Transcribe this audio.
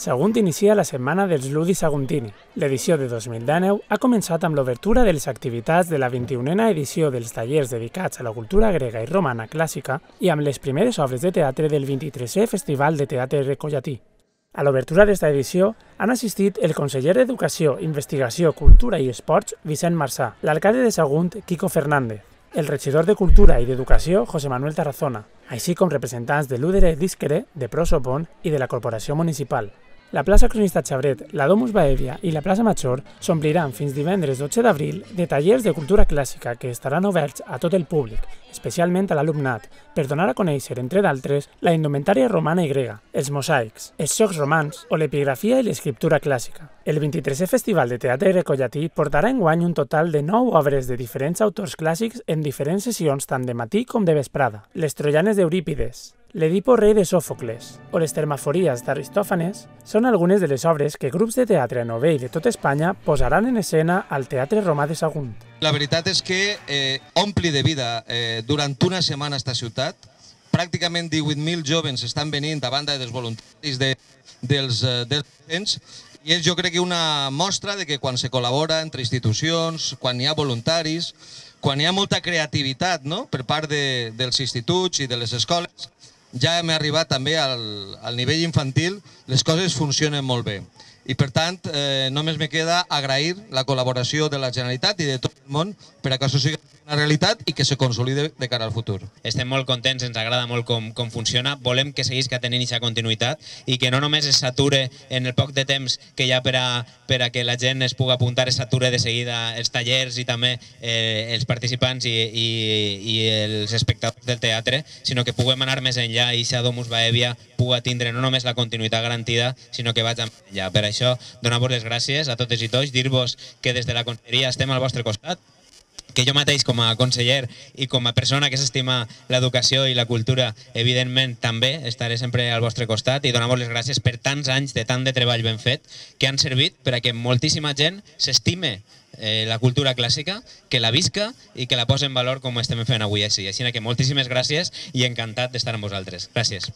Sagunt inicia la setmana dels Ludi Saguntini. L'edició de 2019 ha començat amb l'obertura de les activitats de la 21a edició dels tallers dedicats a la cultura grega i romana clàssica i amb les primeres obres de teatre del 23è Festival de Teatre Recollatí. A l'obertura d'esta edició han assistit el conseller d'Educació, Investigació, Cultura i Esports, Vicent Marsà, l'alcalde de Sagunt, Quico Fernández, el regidor de Cultura i d'Educació, José Manuel Tarazona, així com representants de l'Údere Disquere, de Prosopon i de la Corporació Municipal. La plaça Cronista Xabret, la Domus Baèvia i la plaça Major s'ompliran fins divendres 12 d'abril de tallers de cultura clàssica que estaran oberts a tot el públic, especialment a l'alumnat, per donar a conèixer, entre d'altres, la indumentària romana i grega, els mosaics, els xocs romans o l'epigrafia i l'escriptura clàssica. El 23è Festival de Teatre Recollatí portarà enguany un total de 9 obres de diferents autors clàssics en diferents sessions tant de matí com de vesprada. Les Troianes d'Eurípides, l'Edipo rei de Sòfocles o les Termafories d'Aristòfanes són algunes de les obres que grups de teatre novell de tot Espanya posaran en escena al Teatre Romà de Sagunt. La veritat és que ompli de vida durant una setmana esta ciutat. Pràcticament 18.000 joves estan venint a banda dels voluntaris dels docents i és, jo crec, una mostra de que quan se col·labora entre institucions, quan hi ha voluntaris, quan hi ha molta creativitat, no?, per part dels instituts i de les escoles, ja hem arribat també al nivell infantil, les coses funcionen molt bé. I per tant, només me queda agrair la col·laboració de la Generalitat i de tot el món per a que això sigui una realitat i que se consolide de cara al futur. Estem molt contents, ens agrada molt com funciona, volem que seguisca tenint aquesta continuïtat i que no només es sature en el poc de temps que hi ha per a que la gent es pugui apuntar, es sature de seguida els tallers i també els participants i els espectadors del teatre, sinó que puguem anar més enllà i aquesta Domus Baèvia pugui tindre no només la continuïtat garantida, sinó que vagi més enllà. Per això, donar-vos les gràcies a totes i tots, dir-vos que des de la conselleria estem al vostre costat, que jo mateix com a conseller i com a persona que s'estima l'educació i la cultura, evidentment també estaré sempre al vostre costat i donar-vos les gràcies per tants anys de tant de treball ben fet que han servit per a que moltíssima gent s'estime la cultura clàssica, que la visca i que la posa en valor com estem fent avui així. Així que moltíssimes gràcies i encantat d'estar amb vosaltres. Gràcies.